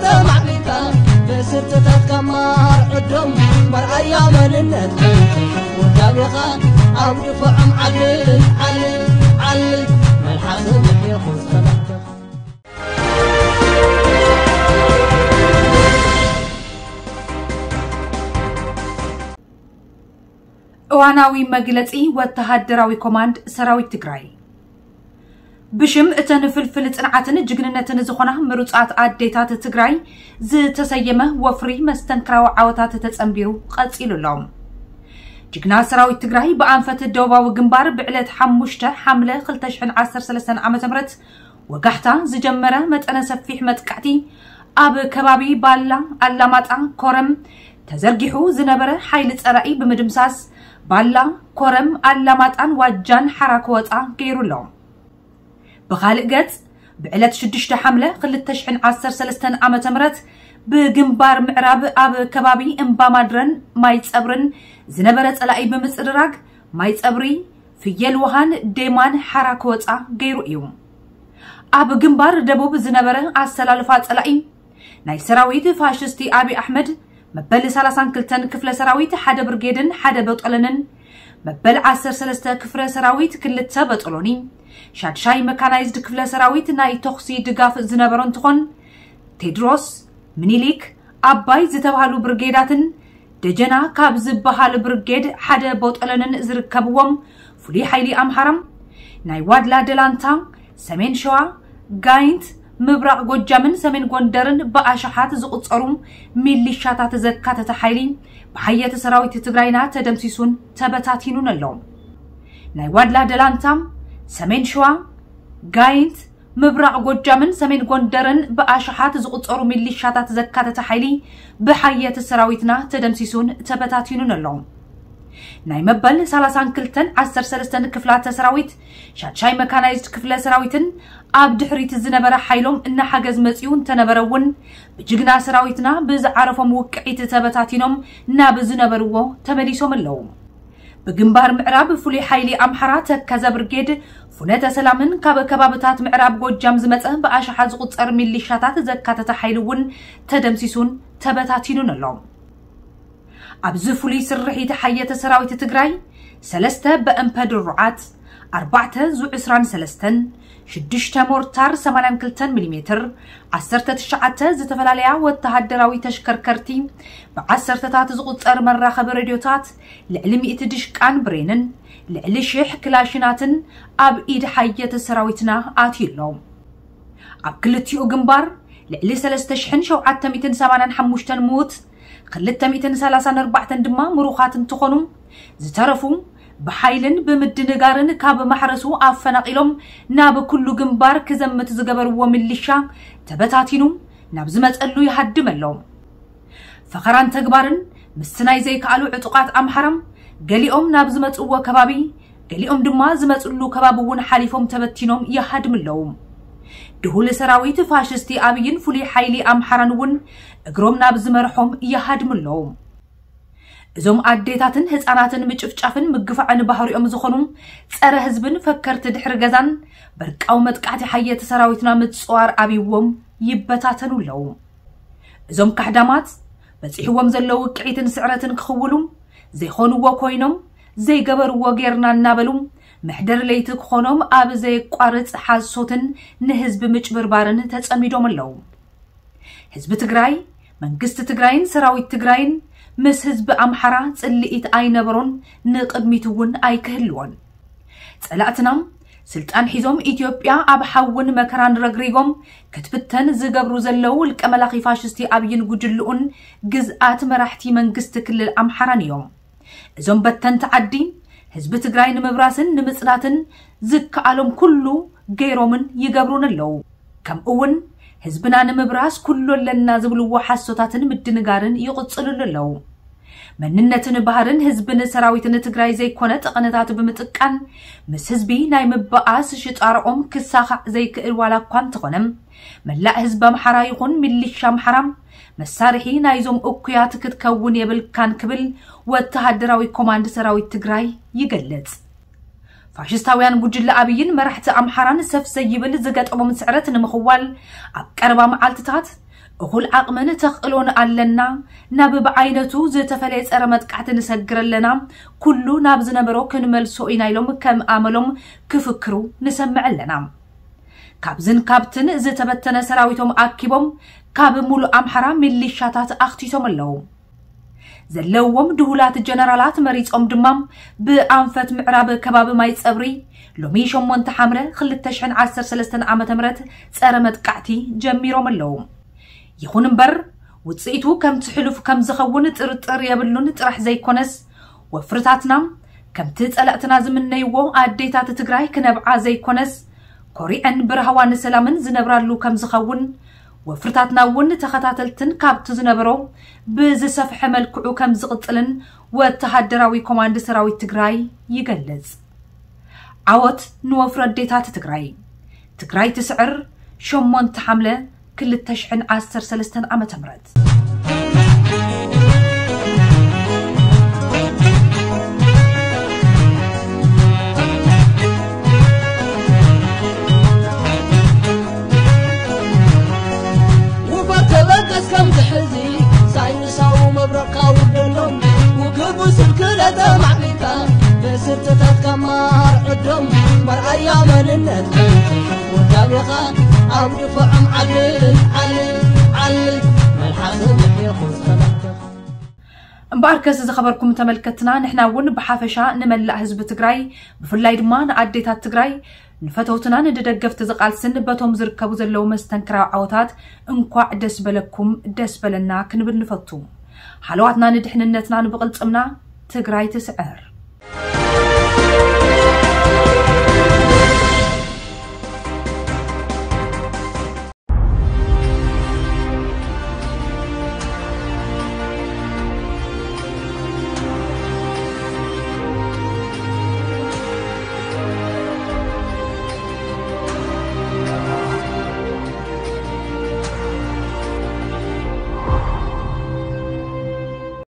ተማዕቢልካ ብስርትታትካ ማር ዕዶም መርኣያ መንነት ውዳቤኻ ኣብ ድፋዖም ዓሊ ዓሊ ዓሊ መልሓስ ምሕየኹ ሰላምተኻ። እዋናዊ መግለጺ ወተሃደራዊ ኮማንድ ሰራዊት ትግራይ። ብሽም እተን ፍልፍል ጽንዓትን ጅግንነትን ዝኾና ምሩጻት ኣዴታት ትግራይ ዝተሰየመ ወፍሪ መስተንክራዊ ዓወታት ተጸንቢሩ ቀጺሉ ኣሎ። ጅግና ሰራዊት ትግራይ ብኣንፈት ደቡባዊ ግንባር ብዕለት ሓሙሽተ ሓምለ ክልተ ሽሕን ዓሰርተ ሰለስተን ዓመተ ምህረት ወጋሕታ ዝጀመረ መጠነ ሰፊሕ መጥቃዕቲ ኣብ ከባቢ ባላ ኣላማጣ ኮረም ተዘርጊሑ ዝነበረ ሓይሊ ጸላኢ ብምድምሳስ ባላ ኮረም ኣላማጣን ዋጃን ሓራ ክወጻ ገይሩ ኣሎ። ብኻልእ ገጽ ብዕለት ሽዱሽተ ሓምለ ክልተ ሽሕን ዓሰርተ ሰለስተን ዓመተ ምህረት ብግንባር ምዕራብ ኣብ ከባቢ እምባ ማድረን ማይ ጸብርን ዝነበረ ጸላኢ ብምጽርራግ ማይ ጸብሪ ፍየል ውሃን ዴማን ሓራ ክወጻ ገይሩ እዩ። ኣብ ግንባር ደቡብ ዝነበረ ኣሰላልፋ ጸላኢ ናይ ሰራዊት ፋሽስቲ ኣብይ ኣሕመድ መበል ሰላሳን ክልተን ክፍለ ሰራዊት ሓደ ብርጌድን ሓደ በጠለንን መበል ዓሰርተ ሰለስተ ክፍለ ሰራዊት ክልተ በጠሎኒ ሻድሻይ መካናይዝድ ክፍለ ሰራዊት ናይ ተኹሲ ድጋፍ ዝነበሮ እንትኾን ቴድሮስ፣ ምኒሊክ፣ ኣባይ ዝተባህሉ ብርጌዳትን ደጀና ካብ ዝበሃል ብርጌድ ሓደ ቦጠለንን ዝርከብዎም ፍሉይ ሓይሊ ኣምሓራም ናይ ዋድላ ደላንታ፣ ሰሜን ሸዋ፣ ጋይንት፣ ምብራቕ ጎጃምን ሰሜን ጎንደርን ብኣሽሓት ዝቑጸሩ ሚሊሻታት ዘካተተ ሓይሊ ብሓየት ሰራዊት ትግራይና ተደምሲሱን ተበታቲኑን ኣሎ። ናይ ዋድላ ደላንታ፣ ሰሜን ሸዋ፣ ጋይንት፣ ምብራቕ ጎጃምን ሰሜን ጎንደርን ብኣሽሓት ዝቑጸሩ ሚሊሻታት ዘካተተ ሓይሊ ብሓየት ሰራዊትና ተደምሲሱን ተበታቲኑን ኣሎ። ናይ መበል ሰላሳን ክልተን ዓሰርተ ሰለስተን ክፍላተ ሰራዊት ሻድሻይ መካናይዝድ ክፍለ ሰራዊትን ኣብ ድሕሪት ዝነበረ ሓይሎም እናሓገዝ መጺኡ እንተነበረ እውን ብጅግና ሰራዊትና ብዝዓረፎም ውቅዒት ተበታቲኖም ናብ ዝነበርዎ ተመሊሶም ኣለዉ። ብግንባር ምዕራብ ፍሉይ ሓይሊ ኣምሓራ ተከዘ ብርጌድ ፍኖተ ሰላምን ካብ ከባብታት ምዕራብ ጎጃም ዝመጸ ብኣሽሓት ዝቑጸር ሚሊሻታት ዘካተተ ሓይሊ እውን ተደምሲሱን ተበታቲኑን ኣሎ። ኣብዚ ፍሉይ ስርሒት ሓየተ ሰራዊት ትግራይ ሰለስተ በእምፐ ድሩዓት፣ ኣርባዕተ ዙ ዕስራን ሰለስተን፣ ሽዱሽተ ሞርታር ሰማንያን ክልተን ሚሊሜትር፣ ዓሰርተ ትሽዓተ ዝተፈላለያ ወተሃደራዊ ተሽከርከርቲ፣ ብዓሰርተታት ዝቑጸር መራኸቢ ሬድዮታት፣ ልዕሊ ሚእቲ ድሽቃን ብሬንን ልዕሊ ሽሕ ክላሽናትን ኣብ ኢድ ሓየተ ሰራዊትና ኣትዩ ኣሎ። ኣብ ክልቲኡ ግንባር ልዕሊ ሰለስተ ሽሕን ሸውዓተ ሚእትን ሰማንያን ሓሙሽተን ምዉት፣ ክልተ ሚእትን ሰላሳን ኣርባዕተን ድማ ምሩኻት እንትኾኑ፣ ዝተረፉ ብሓይልን ብምድንጋርን ካብ ማሕረሱ ኣፈናቒሎም ናብ ኩሉ ግንባር ክዘምት ዝገበርዎ ሚሊሻ ተበታቲኑ ናብ ዝመጸሉ ይሃድም ኣሎ። ፈኸራን ተግባርን ምስናይ ዘይከኣሉ ዕጡቓት ኣምሓራም ገሊኦም ናብ ዝመጽእዎ ከባቢ፣ ገሊኦም ድማ ዝመጽሉ ከባቢ እውን ሓሊፎም ተበቲኖም ይሃድም ኣለዉ። ድሁል ሰራዊት ፋሽስቲ ኣብይን ፍሉይ ሓይሊ ኣምሓራን እውን እግሮም ናብ ዝመርሖም ይሃድሙ ኣለዉ። እዞም ኣዴታትን ህፃናትን ምጭፍጫፍን ምግፋዕን ባህሪኦም ዝኾኑ ጸረ ህዝብን ፈከርቲ ድሕሪ ገዛን በርቃዊ መጥቃዕቲ ሓየት ሰራዊትና ምጽዋር ኣብይዎም ይበታተኑ ኣለዉ። እዞም ካሕዳማት በጺሕዎም ዘለዉ ውቅዒትን ስዕረትን ክኽውሉ ዘይኾንዎ ኮይኖም ዘይገበርዎ ጌርና እናበሉ መሕደር ለይቲ ክኾኖም ኣብ ዘየቋርጽ ሓሶትን ንህዝቢ ምጭብርባርን ተጸሚዶም ኣለዉ። ህዝቢ ትግራይ፣ መንግስቲ ትግራይን ሰራዊት ትግራይን ምስ ህዝቢ ኣምሓራ ጽልኢት ኣይነበሮን፣ ንቕድሚት እውን ኣይክህልዎን። ጸላእትና ስልጣን ሒዞም ኢትዮጵያ ኣብ ሓውን መከራን ረግሪጎም ክትብተን ዝገብሩ ዘለዉ ውልቀ መላኺ ፋሽስቲ ኣብይን ጉጅልኡን ግዝኣት መራሕቲ መንግስቲ ክልል ኣምሓራን እዮም። እዞም በተንቲ ዓዲ ህዝቢ ትግራይ ንምብራስን ንምጽናትን ዝከኣሎም ኩሉ ገይሮምን ይገብሩን ኣለዉ። ከምኡ እውን ህዝብና ንምብራስ ኩሉ ኣለና ዝብልዎ ሓሶታትን ምድንጋርን ይቕጽልሉ ኣለዉ። መንነትን ባህርን ህዝብን ሰራዊትን ትግራይ ዘይኮነ ጠቐነታት ብምጥቃን ምስ ህዝቢ ናይ ምበኣስ ሽጣርኦም ክሳኻዕ ዘይክእል ዋላ እኳ እንተኾነ መላእ ህዝቢ ኣምሓራ ይኹን ሚሊሻ ኣምሓራ መሳርሒ ናይዞም እኩያት ክትከውን የብልካን ክብል ወተሃደራዊ ኮማንድ ሰራዊት ትግራይ ይገልጽ። ፋሽስታውያን ጉጅለ ኣብይን መራሕቲ ኣምሓራን ሰፍ ዘይብል ዝገጠሞም ስዕረት ንምኽዋል ኣብ ቀረባ መዓልትታት እኹል ዓቕምን ተኽእሎን ኣለና። ናብ ብዓይነቱ ዝተፈለየ ጸረ መጥቃዕቲ ንሰግር ኣለና። ኩሉ ናብ ዝነበሮ ክንመልሶ ኢና ኢሎም ከም ኣመሎም ክፍክሩ ንሰምዕ ኣለና። ካብዝን ካብትን ዝተበተነ ሰራዊቶም ኣኪቦም ካብ ሙሉእ ኣምሓራ ሚሊሻታት ኣኽቲቶም ኣለዉ። ዘለዎም ድሁላት ጀነራላት መሪጾም ድማ ብኣንፈት ምዕራብ ከባቢ ማይ ጸብሪ ሎሚ ሸሞንተ ሓምለ ክልተ ሽሕን ዓሰርተ ሰለስተን ዓመተ ምህረት ጸረ መጥቃዕቲ ጀሚሮም ኣለዉ። ይኹን እምበር ውጽኢቱ ከምቲ ሕሉፍ ከም ዝኸውን ጥርጥር የብሉን ጥራሕ ዘይኮነስ ወፍርታትና ከምቲ ጸላእትና ዝምነይዎ ኣዴታት ትግራይ ክነብዓ ዘይኮነስ ኮሪዐን ብራህዋን ሰላምን ዝነብራሉ ከም ዝኸውን ወፍርታትና እውን ተኸታተልትን ካብቲ ዝነበሮ ብዝሰፍሐ መልክዑ ከም ዝቕጽልን ወተሃደራዊ ኮማንድ ሰራዊት ትግራይ ይገልጽ። ዓወት ንወፍሪ ኣዴታት ትግራይ። ትግራይ ትስዕር። ሸሞንተ ሓምለ ክልተ ሽሕን ዓሰርተ ሰለስተን ዓመተ ምህረት። ውፈር ተበገስ ከም ትሕዚ ሳይንሳዊ መብረቕካ ውደሎም ውግቡ ስልክለ ተማዕቢልካ ብስርትታት ከማር ዕዶም መርኣያ መንነት ወዳቤኻ ኣብ ድፍዖም ዓልል ዓልል ዓልል መልሓስ ምሕኹ ሰላምተኻ እምበኣርከስ ዝኸበርኩም ተመልከትና ንሕና እውን ብሓፈሻ ንመላእ ህዝቢ ትግራይ ብፍላይ ድማ ንኣዴታት ትግራይ ንፈተውትና ንደገፍቲ ዝቃልስን በቶም ዝርከቡ ዘለዉ መስተንክራዊ ዓወታት እንኳዕ ደስ በለኩም ደስ በለና ክንብል ንፈቱ። ሓለዋትና ንድሕንነትና ንብቕልፅምና ትግራይ ትስዕር።